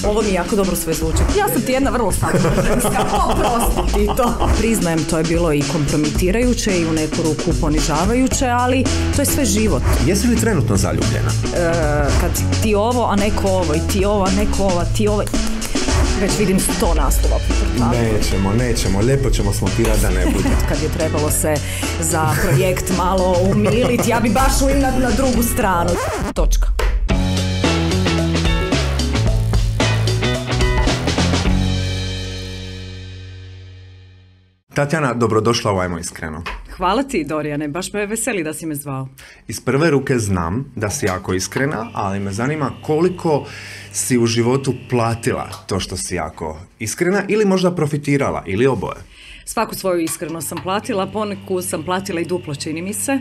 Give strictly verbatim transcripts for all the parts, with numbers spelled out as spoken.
Ovo mi jako dobro sve zvuči. Ja sam ti jedna vrlo samoženska, oprosti ti to. Priznajem, to je bilo i kompromitirajuće i u neku ruku ponižavajuće, ali to je sve život. Jesi li trenutno zaljubljena? E, kad ti ovo, a neko ovo, i ti ovo, a neko ovo, ti ovo... Već vidim sto naslova. Nećemo, nećemo, lijepo ćemo smontirati da ne bude. Kad je trebalo se za projekt malo umiliti, ja bi baš uim na, na drugu stranu. Točka. Tatjana, dobrodošla u Ajmo iskreno. Hvala ti, Dorijane, baš me veseli da si me zvao. Iz prve ruke znam da si jako iskrena, ali me zanima koliko si u životu platila to što si jako iskrena ili možda profitirala ili oboje. Svaku svoju iskrenost sam platila, poneku sam platila i duplo, čini mi se,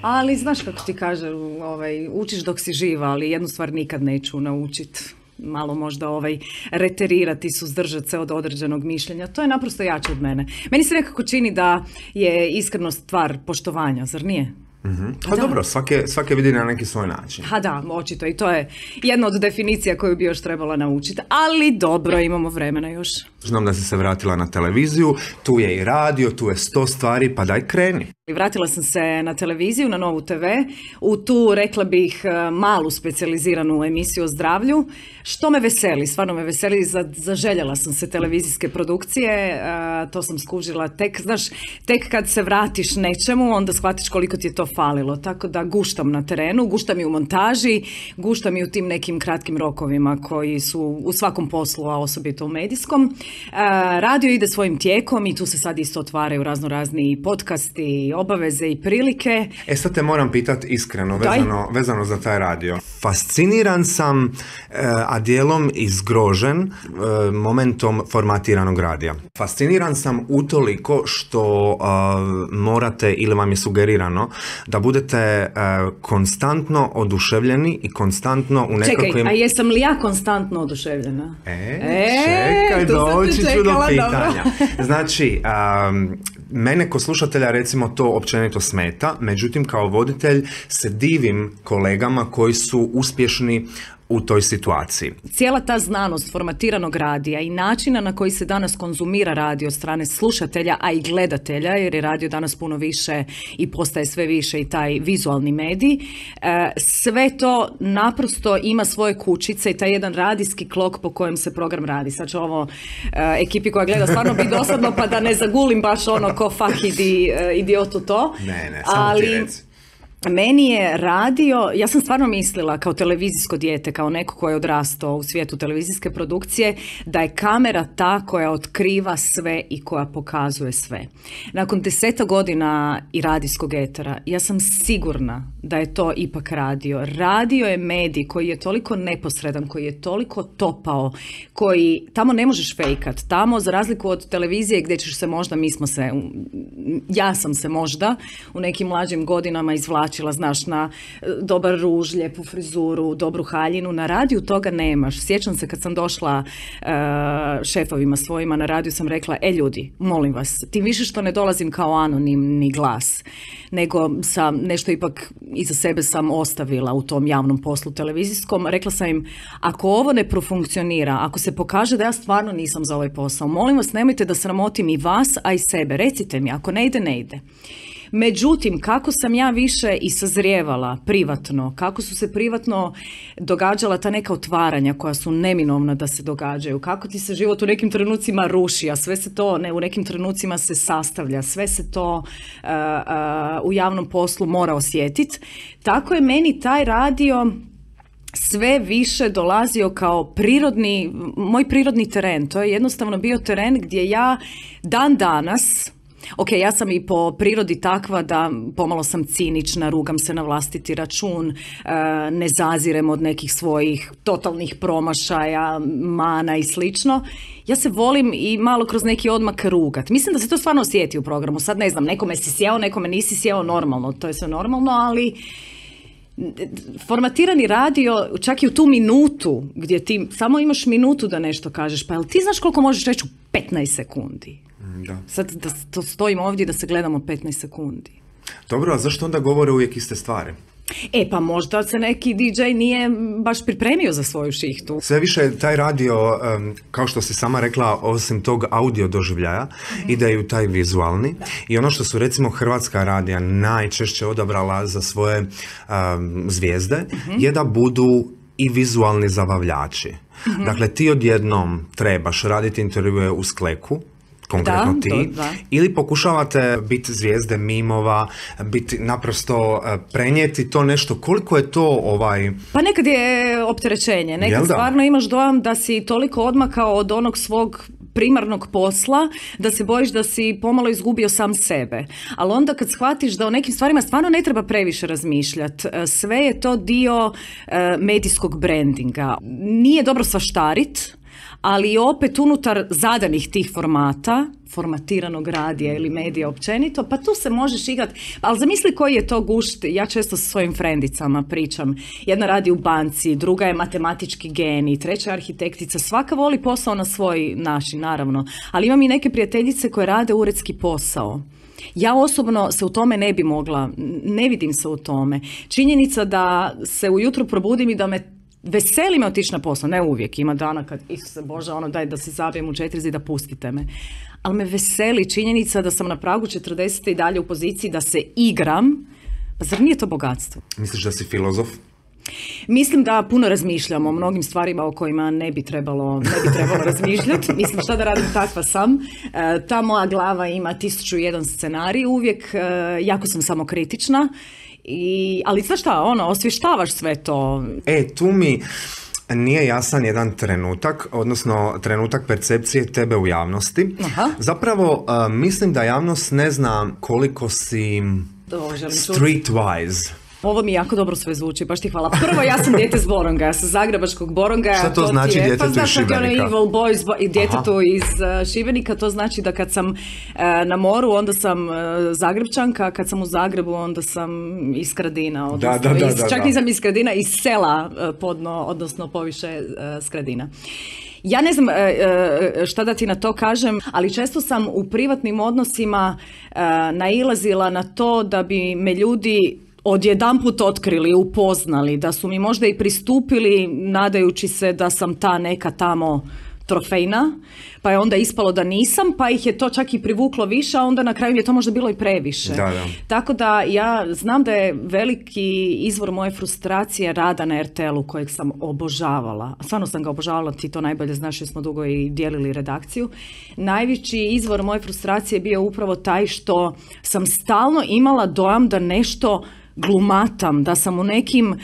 ali znaš kako ti kaže, ovaj, učiš dok si živa, ali jednu stvar nikad neću naučiti. Malo možda ovaj reterirati, suzdržati se od određenog mišljenja. To je naprosto jače od mene. Meni se nekako čini da je iskrenost stvar poštovanja, zar nije? Mm-hmm. Pa da. Dobro, svake, svake vidi na neki svoj način. Ha da, očito i to je jedna od definicija koju bi još trebala naučiti. Ali dobro, imamo vremena još. Znam da si se vratila na televiziju, tu je i radio, tu je sto stvari, pa daj kreni. Vratila sam se na televiziju, na Novu te ve, u tu, rekla bih, malu specijaliziranu emisiju o zdravlju, što me veseli, stvarno me veseli, zaželjela sam se televizijske produkcije, to sam skužila tek, znaš, tek kad se vratiš nečemu, onda shvatiš koliko ti je to falilo, tako da guštam na terenu, guštam i u montaži, guštam i u tim nekim kratkim rokovima koji su u svakom poslu, a osobito u medijskom. Radio ide svojim tijekom i tu se sad isto otvaraju razno razni podcasti, obaveze i prilike. E sad te moram pitati iskreno, vezano, vezano za taj radio. Fasciniran sam, a dijelom i zgrožen momentom formatiranog radija. Fasciniran sam utoliko što uh, morate ili vam je sugerirano da budete uh, konstantno oduševljeni i konstantno u nekakvim... Čekaj, a jesam li ja konstantno oduševljena? E, e čekaj, doći ću do pitanja. Znači, um, mene ko slušatelja recimo to općenito smeta, međutim kao voditelj se divim kolegama koji su uspješni u toj situaciji. Cijela ta znanost formatiranog radija i načina na koji se danas konzumira radio od strane slušatelja, a i gledatelja, jer je radio danas puno više i postaje sve više i taj vizualni medij, sve to naprosto ima svoje kućice i taj jedan radijski klok po kojem se program radi. Sad će ovo ekipi koja gleda stvarno biti dosadno, pa da ne zagulim baš ono ko fah idi, idiotu to. Ne, ne, samo ali... ti reci. Meni je radio, ja sam stvarno mislila kao televizijsko dijete, kao neko ko je odrastao u svijetu televizijske produkcije, da je kamera ta koja otkriva sve i koja pokazuje sve. Nakon deseta godina i radijskog etera, ja sam sigurna da je to ipak radio. Radio je medij koji je toliko neposredan, koji je toliko topao, koji tamo ne možeš fejkat. Tamo, za razliku od televizije gdje ćeš se možda, mi smo se, ja sam se možda u nekim mlađim godinama izvlačila, znaš, na dobar ruž, lijepu frizuru, dobru haljinu. Na radiju toga nemaš. Sjećam se kad sam došla uh, šefovima svojima na radiju, sam rekla, e ljudi, molim vas, tim više što ne dolazim kao anonimni glas, nego sam nešto ipak iza sebe sam ostavila u tom javnom poslu televizijskom. Rekla sam im, ako ovo ne profunkcionira, ako se pokaže da ja stvarno nisam za ovaj posao, molim vas, nemojte da sramotim i vas, a i sebe. Recite mi, ako ne ide, ne ide. Međutim, kako sam ja više i sazrijevala privatno, kako su se privatno događala ta neka otvaranja koja su neminovna da se događaju, kako ti se život u nekim trenucima ruši, a sve se to ne, u nekim trenucima se sastavlja, sve se to uh, uh, u javnom poslu mora osjetiti. Tako je meni taj radio sve više dolazio kao prirodni, moj prirodni teren. To je jednostavno bio teren gdje ja dan danas... Ok, ja sam i po prirodi takva da pomalo sam cinična, rugam se na vlastiti račun, ne zazirem od nekih svojih totalnih promašaja, mana i slično. Ja se volim i malo kroz neki odmak rugat. Mislim da se to stvarno osjeti u programu. Sad ne znam, nekome si sjeo, nekome nisi sjeo, normalno, to je sve normalno, ali formatirani radio, čak i u tu minutu gdje ti samo imaš minutu da nešto kažeš, pa jel ti znaš koliko možeš reći u petnaest sekundi? Da. Sad da stojimo ovdje da se gledamo petnaest sekundi. Dobro, a zašto onda govore uvijek iste stvari? E pa možda se neki di džej nije baš pripremio za svoju šihtu. Sve više taj radio, kao što si sama rekla, osim tog audio doživljaja, mm-hmm. ide u taj vizualni. I ono što su recimo hrvatska radija najčešće odabrala za svoje um, zvijezde, mm-hmm. je da budu i vizualni zabavljači. Mm-hmm. Dakle, ti odjednom trebaš raditi intervjue u skleku, konkretno da, ti, to, da. Ili pokušavate biti zvijezde mimova, biti naprosto prenijeti to nešto, koliko je to ovaj... Pa nekad je opterećenje, nekad stvarno imaš dojam da si toliko odmakao od onog svog primarnog posla, da se bojiš da si pomalo izgubio sam sebe. Ali onda kad shvatiš da o nekim stvarima stvarno ne treba previše razmišljati, sve je to dio uh, medijskog brandinga. Nije dobro svaštarit, ali opet unutar zadanih tih formata, formatiranog radija ili medija općenito, pa tu se možeš igrati. Ali zamisli koji je to gušt, ja često sa svojim frendicama pričam. Jedna radi u banci, druga je matematički genij, treća je arhitektica, svaka voli posao na svoj način, naravno. Ali imam i neke prijateljice koje rade uredski posao. Ja osobno se u tome ne bi mogla, ne vidim se u tome. Činjenica da se ujutro probudim i da me veseli me otići na posao, ne uvijek, ima dana kad, Isuse Bože, ono daj da se zabijem u četiri zida, pustite me. Ali me veseli činjenica da sam na pragu četrdesete i dalje u poziciji da se igram, pa zar nije to bogatstvo? Misliš da si filozof? Mislim da puno razmišljam o mnogim stvarima o kojima ne bi trebalo, ne bi trebalo razmišljati. Mislim šta da radim, takva sam. E, ta moja glava ima tisuću i jedan scenarij uvijek, e, jako sam samokritična. I, ali znaš šta, ono, osvještavaš sve to. E, tu mi nije jasan jedan trenutak, odnosno trenutak percepcije tebe u javnosti. Aha. Zapravo, uh, mislim da javnost ne zna koliko si streetwise. Ovo mi jako dobro sve zvuči, baš ti hvala. Prvo, ja sam dijete s Boronga, ja sam zagrebačkog Boronga. Šta to, to znači je, djetetu pa, iz Šibenika? Pa znači Evil Boys i djetetu iz uh, Šibenika, to znači da kad sam uh, na moru, onda sam uh, Zagrebčanka, kad sam u Zagrebu, onda sam iz Skradina. Odnosno, da, da, da, iz, da, čak da. nisam iz Skradina, iz sela uh, podno, odnosno poviše uh, Skradina. Ja ne znam šta da ti na to kažem, ali često sam u privatnim odnosima uh, nailazila na to da bi me ljudi odjedanput otkrili, upoznali, da su mi možda i pristupili nadajući se da sam ta neka tamo trofejna, pa je onda ispalo da nisam, pa ih je to čak i privuklo više, a onda na kraju je to možda bilo i previše. Da, da. Tako da ja znam da je veliki izvor moje frustracije rada na er te el-u kojeg sam obožavala. Stvarno sam ga obožavala, ti to najbolje znaš jer smo dugo i dijelili redakciju. Najveći izvor moje frustracije je bio upravo taj što sam stalno imala dojam da nešto glumatam, da sam u nekim uh,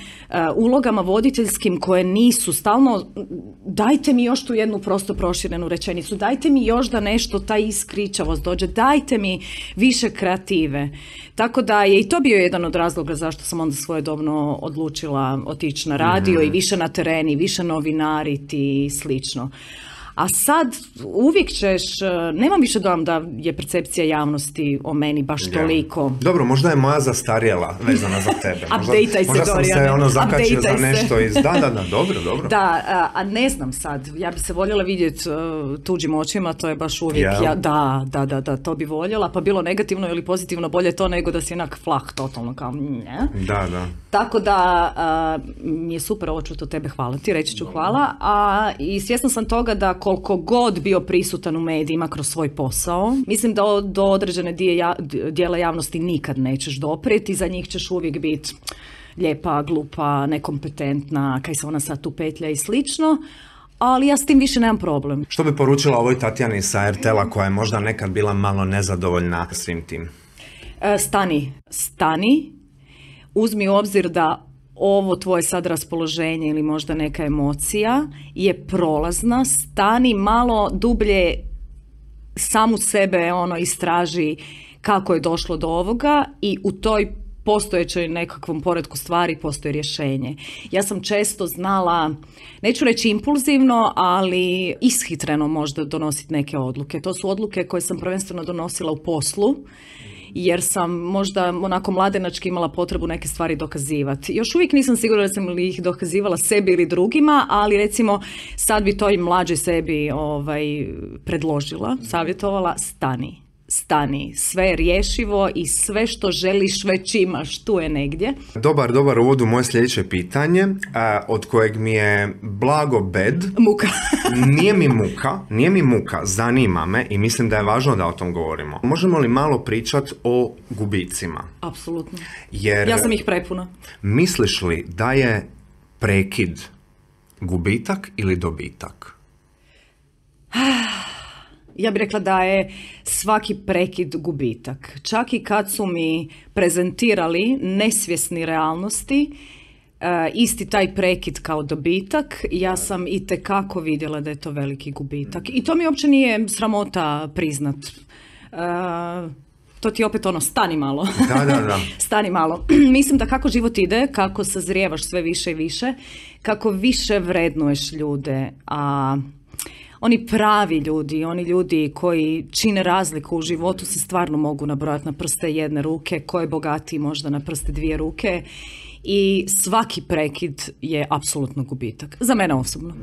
ulogama voditeljskim koje nisu stalno, dajte mi još tu jednu prosto proširenu rečenicu, dajte mi još da nešto, ta iskričavost dođe, dajte mi više kreative. Tako da je i to bio jedan od razloga zašto sam onda svojedobno odlučila otići na radio mm-hmm. i više na tereni, više novinariti i slično. A sad uvijek ćeš, nemam više dojam da je percepcija javnosti o meni baš ja. toliko. Dobro, možda je moja zastarjela vezana za tebe. Update-aj se, možda sam Doriane. se ono zakačio za nešto iz... Da, da, da, dobro, dobro. Da, a, a ne znam sad, ja bi se voljela vidjeti uh, tuđim očima, to je baš uvijek, yeah. ja, da, da, da, da, to bi voljela, pa bilo negativno ili pozitivno, bolje to nego da si onak flah, totalno kao ne. Da, da. Tako da uh, mi je super ovo čuti od tebe, hvala ti, reći ću hvala, a i svjesna sam toga da koliko god bio prisutan u medijima kroz svoj posao, mislim da do određene dijela javnosti nikad nećeš doprijeti, za njih ćeš uvijek biti lijepa, glupa, nekompetentna, kaj se ona sad tu petlja i slično, ali ja s tim više nemam problem. Što bi poručila ovoj Tatjani sa er te el-a koja je možda nekad bila malo nezadovoljna svim tim? Stani, stani, uzmi u obzir da ovo tvoje sad raspoloženje ili možda neka emocija je prolazna, stani malo dublje samu sebe ono istraži kako je došlo do ovoga i u toj postojećoj nekakvom poretku stvari postoji rješenje. Ja sam često znala, neću reći impulzivno, ali ishitreno možda donositi neke odluke. To su odluke koje sam prvenstveno donosila u poslu, jer sam možda onako mladenački imala potrebu neke stvari dokazivati. Još uvijek nisam sigurna da sam li ih dokazivala sebi ili drugima, ali recimo sad bi to i mlađoj sebi ovaj, predložila, savjetovala, stani. stani, sve je rješivo i sve što želiš već imaš, tu je negdje. Dobar, dobar uvod u moje sljedeće pitanje, od kojeg mi je blago bed. Muka. Nije mi muka, nije mi muka, zanima me i mislim da je važno da o tom govorimo. Možemo li malo pričati o gubicima? Apsolutno. Jer ja sam ih prepuna. Misliš li da je prekid gubitak ili dobitak? Ja bih rekla da je svaki prekid gubitak. Čak i kad su mi prezentirali nesvjesni realnosti, uh, isti taj prekid kao dobitak, ja sam itekako vidjela da je to veliki gubitak. I to mi uopće nije sramota priznat. Uh, to ti opet ono, stani malo. Da, da, da. Stani malo. Mislim da kako život ide, kako sazrijevaš sve više i više, kako više vrednuješ ljude, a oni pravi ljudi, oni ljudi koji čine razliku u životu se stvarno mogu nabrojati na prste jedne ruke, ko je bogatiji možda na prste dvije ruke i svaki prekid je apsolutno gubitak. Za mene osobno.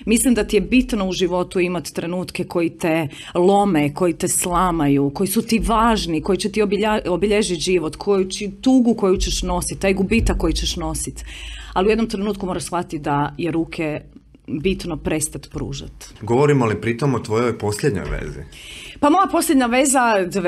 Mislim da ti je bitno u životu imati trenutke koji te lome, koji te slamaju, koji su ti važni, koji će ti obilja, obilježiti život, koju će, tugu koju ćeš nositi, taj gubitak koji ćeš nositi. Ali u jednom trenutku moraš shvatiti da je ruke bitno prestati pružati. Govorimo li pritom o tvojoj posljednjoj vezi? Pa moja posljednja veza,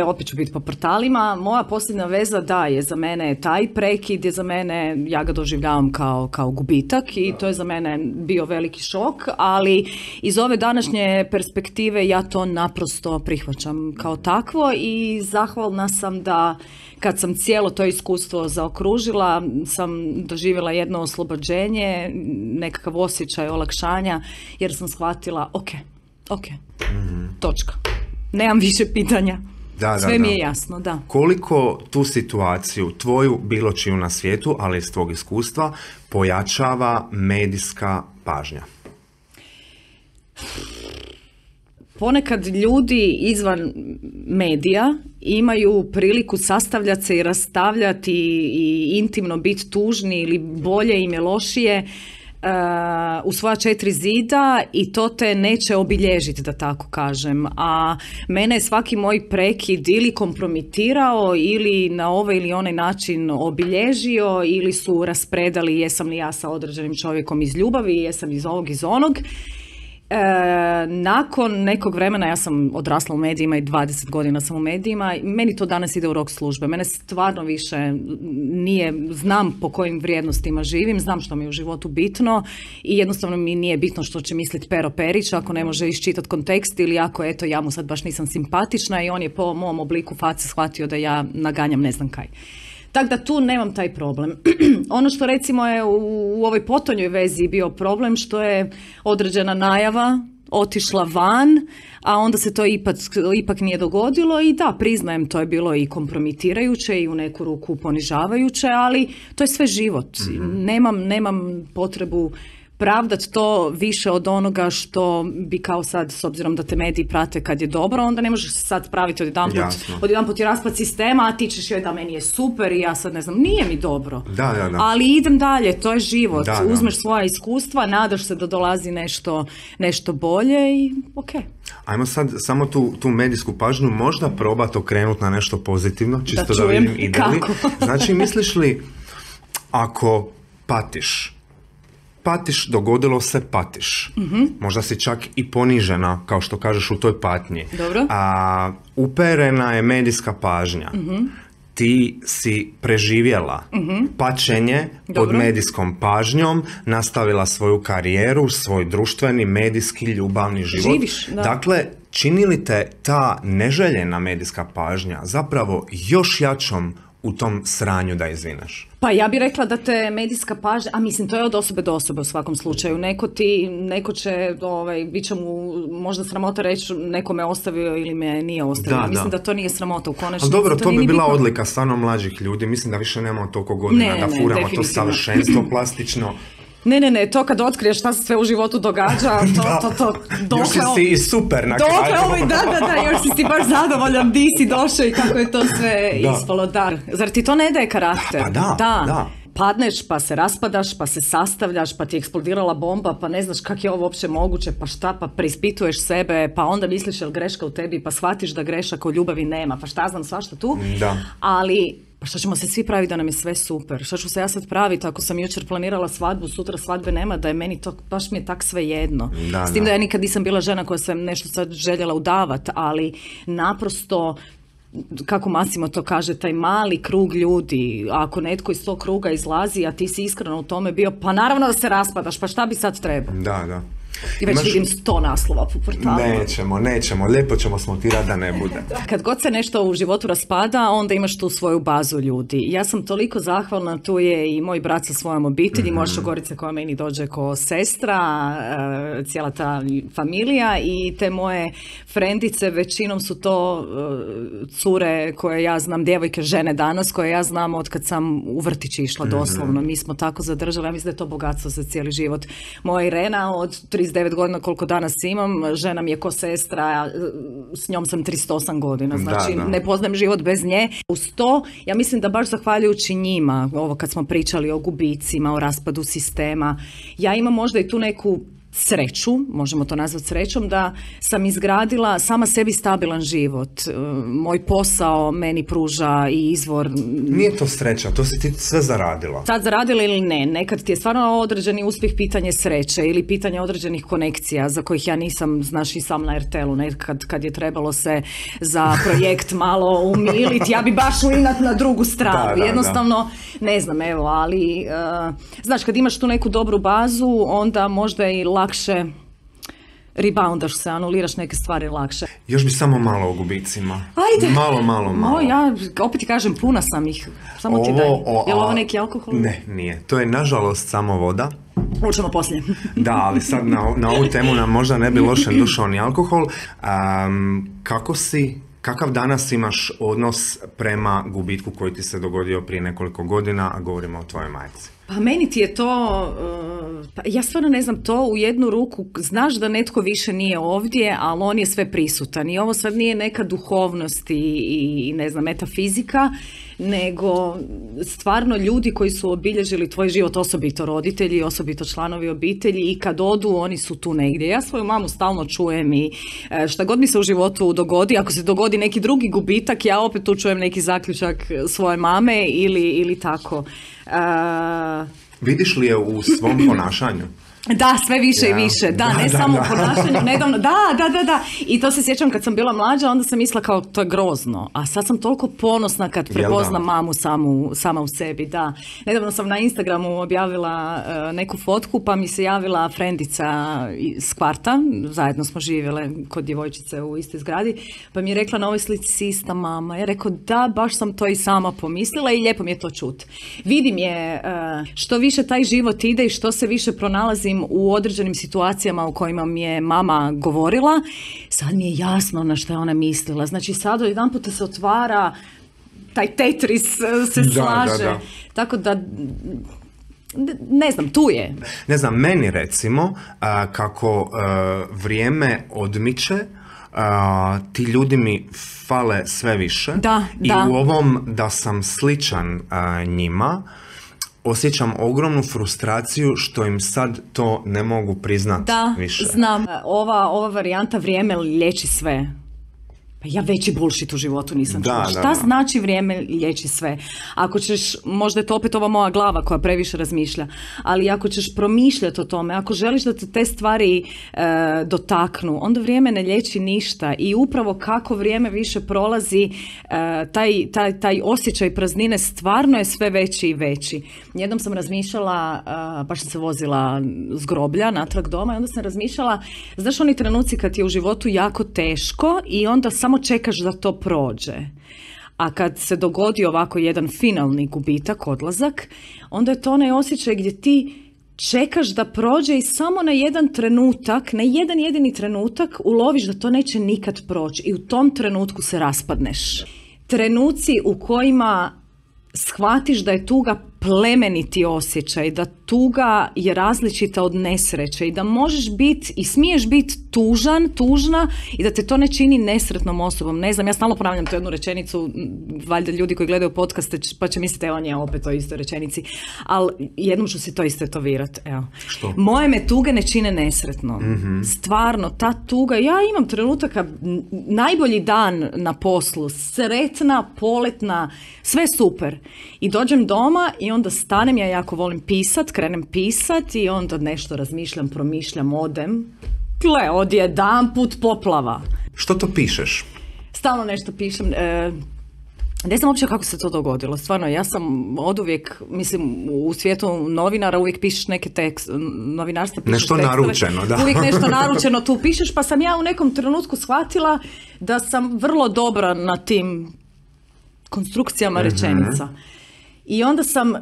opet ću biti po portalima, moja posljednja veza da je za mene taj prekid, je za mene, ja ga doživljavam kao, kao gubitak i to je za mene bio veliki šok, ali iz ove današnje perspektive ja to naprosto prihvaćam kao takvo i zahvalna sam da kad sam cijelo to iskustvo zaokružila, sam doživjela jedno oslobođenje, nekakav osjećaj olakšanja, jer sam shvatila, ok, ok, mm-hmm. točka. Nemam više pitanja. Da, da, sve mi je jasno, da. Koliko tu situaciju, tvoju, bilo čiju na svijetu, ali iz tvog iskustva, pojačava medijska pažnja? Ponekad ljudi izvan medija imaju priliku sastavljati se i rastavljati i intimno biti tužni ili bolje im je lošije Uh, u svoja četiri zida i to te neće obilježiti, da tako kažem. A mene je svaki moj prekid ili kompromitirao ili na ovaj ili onaj način obilježio ili su raspredali jesam li ja sa određenim čovjekom iz ljubavi, jesam iz ovog, iz onog. E, nakon nekog vremena, ja sam odrasla u medijima i dvadeset godina sam u medijima, meni to danas ide u rok službe. Mene stvarno više nije, znam po kojim vrijednostima živim, znam što mi je u životu bitno i jednostavno mi nije bitno što će misliti Pero Perić ako ne može iščitati kontekst ili ako eto ja mu sad baš nisam simpatična i on je po mom obliku face shvatio da ja naganjam ne znam kaj. Tako da tu nemam taj problem. Ono što recimo je u, u ovoj potonjoj vezi bio problem što je određena najava otišla van, a onda se to ipak, ipak nije dogodilo i da, priznajem, to je bilo i kompromitirajuće i u neku ruku ponižavajuće, ali to je sve život. Mm-hmm. Nemam, nemam potrebu pravdati to više od onoga što bi kao sad, s obzirom da te mediji prate kad je dobro, onda ne možeš sad praviti odjedanput, odjedanput je raspad sistema, a ti ćeš joj da meni je super i ja sad ne znam, nije mi dobro. Da, da, da. Ali idem dalje, to je život. Da, da. Uzmeš svoja iskustva, nadaš se da dolazi nešto, nešto bolje i ok. Ajmo sad samo tu, tu medijsku pažnju možda probati okrenuti na nešto pozitivno, čisto da, da vidim ide li. Kako? Znači, misliš li ako patiš, patiš, dogodilo se, patiš. Mm-hmm. Možda si čak i ponižena, kao što kažeš, u toj patnji. Dobro. A, uperena je medijska pažnja. Mm-hmm. Ti si preživjela mm-hmm. pačenje Dobro. pod medijskom pažnjom, nastavila svoju karijeru, svoj društveni, medijski, ljubavni život. Živiš, da. Dakle, čini li te ta neželjena medijska pažnja zapravo još jačom u tom sranju da izvineš? Pa ja bih rekla da te medijska pažnja, a mislim to je od osobe do osobe u svakom slučaju. Neko ti, neko će, ovaj, bit će mu možda sramota reći neko me ostavio ili me nije ostavio. Da, mislim da. da to nije sramota u konačnici. Ali dobro, to, to bi bila bitno. Odlika stvarno mlađih ljudi. Mislim da više nemamo toliko godina ne, da ne, furamo to savršenstvo plastično. Ne, ne, ne, to kad otkriješ šta se sve u životu događa, to, to, to, dokle... Još si i super na kraju. Dokle ovaj, da, da, da, još si ti baš zadovoljan, di si došao i kako je to sve da. ispalo, da. Zar ti to ne daje karakter? Pa da, da. da. padneš, pa se raspadaš, pa se sastavljaš, pa ti je eksplodirala bomba, pa ne znaš kako je ovo uopće moguće, pa šta, pa preispituješ sebe, pa onda misliš je li greška u tebi, pa shvatiš da grešaka u ljubavi nema, pa šta znam, svašta tu. Da. Ali, pa što ćemo se svi praviti da nam je sve super? Što ću se ja sad praviti ako sam jučer planirala svadbu, sutra svadbe nema, da je meni to, baš mi je tak sve jedno. Da, S tim da. da ja nikad nisam bila žena koja sam nešto sad željela udavat, ali naprosto, kako Massimo to kaže, taj mali krug ljudi, ako netko iz tog kruga izlazi, a ti si iskreno u tome bio, pa naravno da se raspadaš, pa šta bi sad trebao? Da, da. I već Imaš... vidim sto naslova po portalu. Nećemo, nećemo, lijepo ćemo smontirati da ne bude. Kad god se nešto u životu raspada, onda imaš tu svoju bazu ljudi. Ja sam toliko zahvalna, tu je i moj brat sa svojom obitelji, mm-hmm. moja šogorica koja meni dođe ko sestra, cijela ta familija i te moje frendice, većinom su to cure koje ja znam, djevojke, žene danas, koje ja znam od kad sam u vrtić išla doslovno. Mm-hmm. Mi smo tako zadržali, ja mislim da je to bogatstvo za cijeli život. Moja Irena od trideset devet godina koliko danas imam, žena mi je ko sestra, s njom sam trideset osam godina, znači da, da. ne poznajem život bez nje. Uz to, ja mislim da baš zahvaljujući njima, ovo kad smo pričali o gubicima, o raspadu sistema, ja imam možda i tu neku sreću, možemo to nazvati srećom, da sam izgradila sama sebi stabilan život. Moj posao meni pruža i izvor... Nije to sreća, to si ti sve zaradila. Sad zaradila ili ne, nekad ti je stvarno određeni uspjeh pitanje sreće ili pitanje određenih konekcija za kojih ja nisam, znaš, i sam na er te el u, nekad kad je trebalo se za projekt malo umiliti, ja bi baš uinat na drugu stranu. Da, da, jednostavno, da. ne znam, evo, ali uh, znaš, kad imaš tu neku dobru bazu, onda možda i lakše reboundaš se, anuliraš neke stvari lakše. Još bi samo malo o gubicima. Ajde. Malo, malo, malo. O, ja opet ti kažem, puna sam ih. Samo ovo, ti daj. O, je li ovo neki alkohol? Ne, nije. To je nažalost samo voda. Učemo poslije. Da, ali sad na, na ovu temu nam možda ne bi loše došao ni alkohol. Um, kako si, kakav danas imaš odnos prema gubitku koji ti se dogodio prije nekoliko godina, a govorimo o tvojoj majci? Pa meni ti je to, uh, pa ja stvarno ne znam, to u jednu ruku, znaš da netko više nije ovdje, ali on je sve prisutan i ovo sad nije neka duhovnost i, i ne znam, metafizika, nego stvarno ljudi koji su obilježili tvoj život, osobito roditelji, osobito članovi obitelji i kad odu, oni su tu negdje. Ja svoju mamu stalno čujem i šta god mi se u životu dogodi, ako se dogodi neki drugi gubitak, ja opet tu čujem neki zaključak svoje mame ili, ili tako. Uh, Vidiš li je u svom ponašanju? Da, sve više ja. i više, da, da ne da, samo da. u ponašanju, nedavno, da, da, da, da, i to se sjećam kad sam bila mlađa, onda sam mislila kao to je grozno, a sad sam toliko ponosna kad prepoznam mamu samu, sama u sebi, da. Nedavno sam na Instagramu objavila uh, neku fotku, pa mi se javila frendica iz kvarta, zajedno smo živjele kod djevojčice u istoj zgradi, pa mi je rekla na ovoj slici si ista mama, ja rekao da, baš sam to i sama pomislila i lijepo mi je to čut. Vidim je uh, što više taj život ide i što se više pronalazim u određenim situacijama u kojima mi je mama govorila, sad mi je jasno na što je ona mislila. Znači sad jedan puta se otvara, taj Tetris se da, slaže. Da, da. Tako da, ne znam, tu je. Ne znam, meni recimo, uh, kako uh, vrijeme odmiče, uh, ti ljudi mi fale sve više. Da, i da. u ovom da sam sličan uh, njima, osjećam ogromnu frustraciju što im sad to ne mogu priznati da, više. Da, znam. Ova, ova varijanta vrijeme liječi sve. Pa ja veći bullshit u životu nisam čula. Šta da, da. znači vrijeme liječi sve? Ako ćeš, možda je to opet ova moja glava koja previše razmišlja, ali ako ćeš promišljati o tome, ako želiš da te te stvari e, dotaknu, onda vrijeme ne liječi ništa i upravo kako vrijeme više prolazi, e, taj, taj, taj osjećaj praznine stvarno je sve veći i veći. Jednom sam razmišljala, e, baš sam se vozila s groblja natrag doma i onda sam razmišljala, znaš oni trenuci kad je u životu jako teško i onda samo samo čekaš da to prođe. A kad se dogodi ovako jedan finalni gubitak, odlazak, onda je to onaj osjećaj gdje ti čekaš da prođe i samo na jedan trenutak, na jedan jedini trenutak uloviš da to neće nikad proći i u tom trenutku se raspadneš. Trenuci u kojima shvatiš da je tuga plemeniti osjećaj, da tuga je različita od nesreće i da možeš biti i smiješ biti tužan, tužna i da te to ne čini nesretnom osobom. Ne znam, ja stalno ponavljam tu jednu rečenicu, valjda ljudi koji gledaju podcaste pa će misliti, evo nje opet o istoj rečenici, ali jednom ću si to istetovirati. Evo. Što? Moje me tuge ne čine nesretnom. Mm-hmm. Stvarno, ta tuga, ja imam trenutaka, najbolji dan na poslu, sretna, poletna, sve super. I dođem doma i onda stanem, ja jako volim pisat, krenem pisat i onda nešto razmišljam, promišljam, odem. Gle, odjedanput poplava. Što to pišeš? Stalno nešto pišem. E, ne znam uopće kako se to dogodilo. Stvarno, ja sam oduvijek, mislim, u svijetu novinara uvijek pišeš neke tekst, novinarstva pišeš nešto tekstove. Naručeno, da. Uvijek nešto naručeno tu pišeš, pa sam ja u nekom trenutku shvatila da sam vrlo dobra na tim konstrukcijama mm-hmm. rečenica. I onda sam, uh,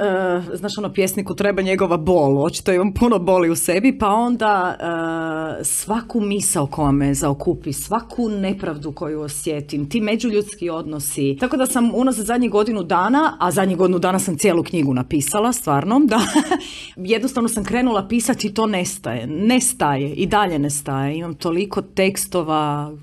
znaš ono, pjesniku treba njegova bol, očito imam puno boli u sebi, pa onda uh, svaku misao koja me zaokupi, svaku nepravdu koju osjetim, ti međuljudski odnosi. Tako da sam unazad zadnjih godinu dana, a zadnjih godinu dana sam cijelu knjigu napisala, stvarno, da jednostavno sam krenula pisati i to nestaje, nestaje i dalje nestaje. Imam toliko tekstova.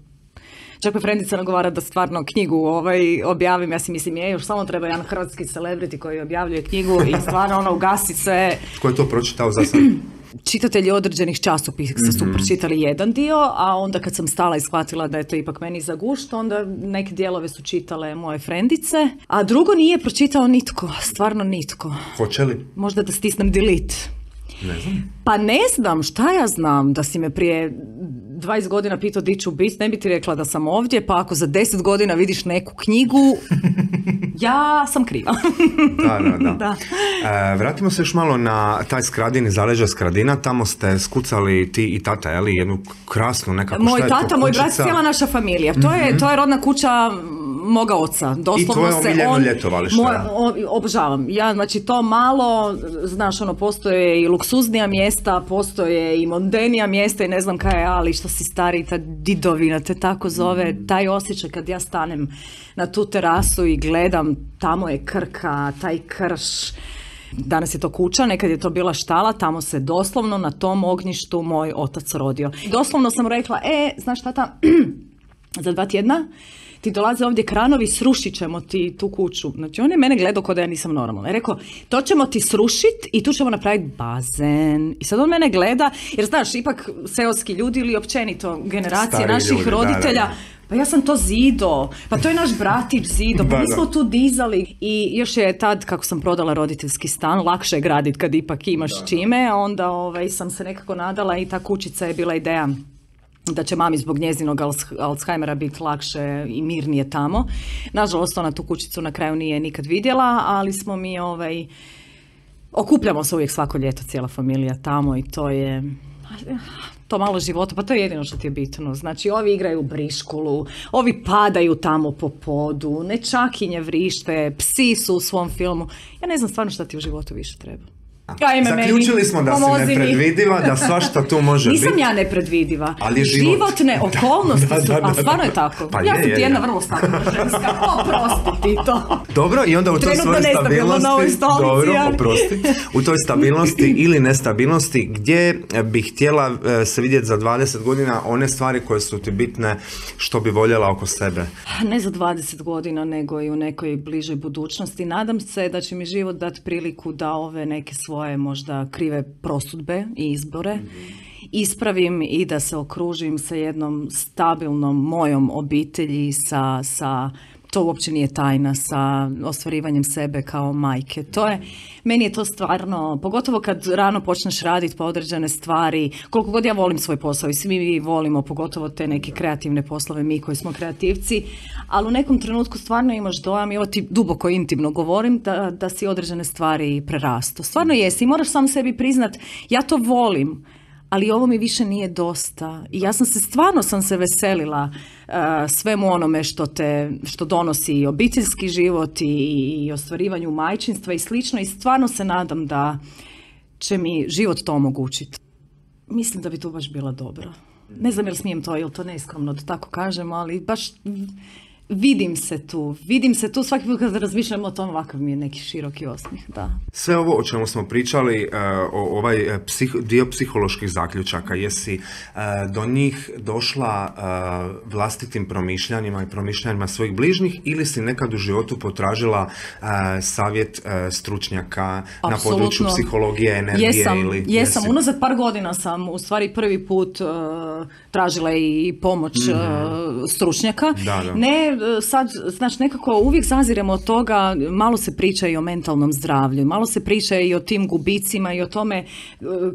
Čak me frendica nagovara da stvarno knjigu ovaj, objavim, ja si mislim, je, još samo treba jedan hrvatski celebrity koji objavljuje knjigu i stvarno ono ugasi sve. Ko je to pročitao za sad? Čitatelji određenih časopisa mm-hmm. su pročitali jedan dio, a onda kad sam stala i shvatila da je to ipak meni za gušt, onda neke dijelove su čitale moje frendice, a drugo nije pročitao nitko, stvarno nitko. Hoće li? Možda da stisnem delete. Ne znam. Pa ne znam, šta ja znam, da si me prije dvadeset godina pitao di ću biti, ne bi ti rekla da sam ovdje, pa ako za deset godina vidiš neku knjigu, ja sam kriva. Da, da, da. da. E, vratimo se još malo na taj Skradin i zaleđa Skradina, tamo ste skucali ti i tata, je li, jednu krasnu nekako, moj šta je tata, to, moj brat, cijela naša familija, to, mm-hmm. je, to je rodna kuća moga oca. Doslovno i tvoje omiljeno ljetovalište. Moj, o, obožavam. Ja, znači to malo, znaš, ono, postoje i luksuznija mjesta, postoje i mondenija mjesta i ne znam kaj je, ali što si stari, ta didovina te tako zove, mm. taj osjećaj kad ja stanem na tu terasu i gledam, tamo je Krka, taj krš, danas je to kuća, nekad je to bila štala, tamo se doslovno na tom ognjištu moj otac rodio. Doslovno sam rekla, e, znaš tata, za dva tjedna ti dolaze ovdje kranovi, srušit ćemo ti tu kuću. Znači, on je mene gledao kao da ja nisam normalna. Je rekao, to ćemo ti srušiti i tu ćemo napraviti bazen. I sad on mene gleda, jer znaš, ipak seoski ljudi ili općenito generacije stari naših ljudi, roditelja, da, da. Pa ja sam to zido, pa to je naš bratić zido, pa mi smo tu dizali. I još je tad, kako sam prodala roditeljski stan, lakše je graditi kad ipak imaš da, čime, onda ovaj, sam se nekako nadala i ta kućica je bila ideja da će mami zbog njezinog Alzheimera biti lakše i mirnije tamo. Nažalost, ona tu kućicu na kraju nije nikad vidjela, ali smo mi, ovaj, okupljamo se uvijek svako ljeto, cijela familija tamo i to je, to malo života, pa to je jedino što ti je bitno. Znači, ovi igraju briškulu, ovi padaju tamo po podu, nečakinje vrište, psi su u svom filmu. Ja ne znam stvarno šta ti u životu više treba. Ajme, zaključili meni, smo da si nepredvidiva, da svašta tu može biti. Nisam ja nepredvidiva. Ali je život. Životne okolnosti da, da, su, da, da, a stvarno je tako. Pa ja je, sam je, ti jedna je. vrlo stabilna ženska. Oprosti ti to. Dobro, i onda u toj svojoj stabilnosti, dobro, oprosti, u toj stabilnosti ili nestabilnosti, gdje bi htjela se vidjeti za dvadeset godina one stvari koje su ti bitne, što bi voljela oko sebe? Ne za dvadeset godina, nego i u nekoj bližoj budućnosti. Nadam se da će mi život dati priliku da ove neke svoje možda krive prosudbe i izbore ispravim i da se okružim sa jednom stabilnom mojom obitelji, sa, sa to uopće nije tajna, sa ostvarivanjem sebe kao majke. To je, meni je to stvarno, pogotovo kad rano počneš raditi po određene stvari, koliko god ja volim svoj posao i svi mi volimo, pogotovo te neke kreativne poslove, mi koji smo kreativci, ali u nekom trenutku stvarno imaš dojam, i ovo ti duboko intimno govorim, da, da si određene stvari prerasto. Stvarno jesi i moraš sam sebi priznat, ja to volim, ali ovo mi više nije dosta. I ja sam se, stvarno sam se veselila uh, svemu onome što te, što donosi i obiteljski život i, i ostvarivanju majčinstva i slično, i stvarno se nadam da će mi život to omogućiti. Mislim da bi to baš bila dobra. Ne znam jel smijem to, jel to neskromno da tako kažem, ali baš Vidim se tu, vidim se tu svaki put kad razmišljam o tom, ovakav mi je neki široki osmijeh, da. Sve ovo o čemu smo pričali, o ovaj psih, dio psiholoških zaključaka, jesi do njih došla vlastitim promišljanjima i promišljanjima svojih bližnjih ili si nekad u životu potražila savjet stručnjaka Absolutno. Na području psihologije, energije? Jesam, ili jesam. Jesi? Unazad par godina sam u stvari prvi put uh, tražila i pomoć mm-hmm. uh, stručnjaka. Da, da. Ne, sad, znači nekako uvijek zaziremo od toga, malo se priča i o mentalnom zdravlju, malo se priča i o tim gubicima i o tome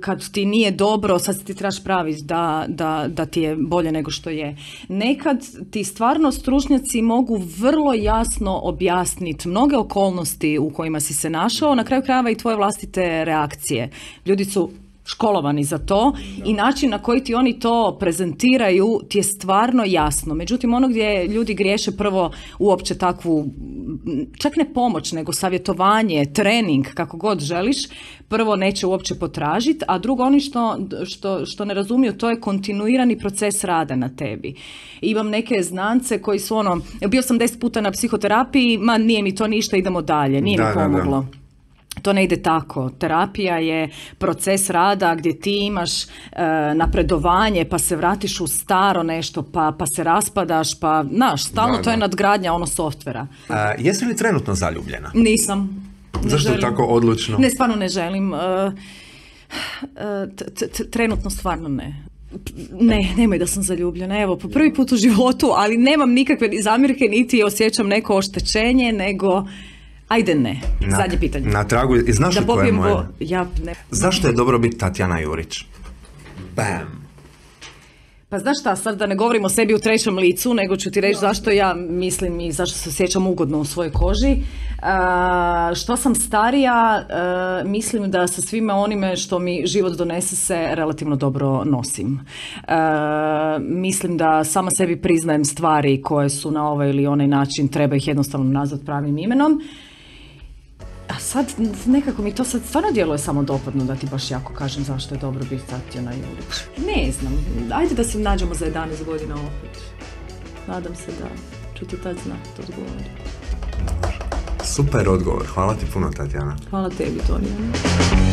kad ti nije dobro, sad ti trebaš praviti da, da, da ti je bolje nego što je. Nekad ti stvarno stručnjaci mogu vrlo jasno objasniti mnoge okolnosti u kojima si se našao, na kraju krajeva i tvoje vlastite reakcije. Ljudi su školovani za to i način na koji ti oni to prezentiraju ti je stvarno jasno. Međutim, ono gdje ljudi griješe prvo uopće takvu, čak ne pomoć, nego savjetovanje, trening, kako god želiš, prvo neće uopće potražiti, a drugo oni što, što, što ne razumiju, to je kontinuirani proces rada na tebi. Imam neke znance koji su ono, bio sam deset puta na psihoterapiji, ma nije mi to ništa, idemo dalje, nije da, mi pomoglo. Da, da. To ne ide tako. Terapija je proces rada gdje ti imaš e, napredovanje, pa se vratiš u staro nešto, pa, pa se raspadaš, pa, znaš, stalno da, to je da. nadgradnja ono softvera. A, jesi li trenutno zaljubljena? Nisam. Ne Zašto želim. tako odlučno? Ne, stvarno ne želim. E, t, t, trenutno stvarno ne. Ne, nemoj da sam zaljubljena. Evo, po prvi put u životu, ali nemam nikakve zamjerke, niti osjećam neko oštećenje, nego... Ajde ne, na, zadnje pitanje. Na tragu, i znaš da li koje je moje? Bo... Ja, ne. Zašto je dobro biti Tatjana Jurić? Bam! Pa znaš šta, sad da ne govorim o sebi u trećem licu, nego ću ti reći zašto ja mislim i zašto se osjećam ugodno u svojoj koži. Uh, što sam starija, uh, mislim da sa svime onime što mi život donese se relativno dobro nosim. Uh, mislim da sama sebi priznajem stvari koje su na ovaj ili onaj način, treba ih jednostavno nazvati pravim imenom. A sad nekako mi to sad stvarno djeluje samo dopadno da ti baš jako kažem zašto je dobro biti Tatjana Jurić. Ne znam, ajde da se nađemo za jedanaest godina opet. Nadam se da ću ti tad znati odgovoriti. Super odgovor, hvala ti puno Tatjana. Hvala tebi, Tonija.